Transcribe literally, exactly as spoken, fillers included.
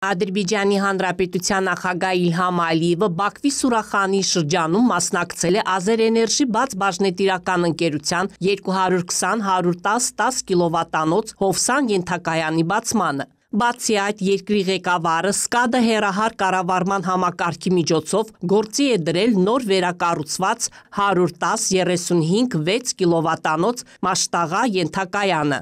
Ադրբեջանի Հանրապետության նախագահ Իլհամ Ալիևը Բաքվի Սուրախանի շրջանում մասնակցել է Ազերէներժի բաց բաժնետիրական ընկերության երկու հարյուր քսան հարյուր տասը տասը կիլովատանոց Հովսան ենթակայանի բացմանը։ Բացի այդ, երկրի ղեկավարը սկադը հեռահար կառավարման համակարգի միջոցով գործի է դրել նոր վերակառուցված հարյուր տասը երեսունհինգ վեց կիլովատանոց Մաշտաղա ենթակայանը։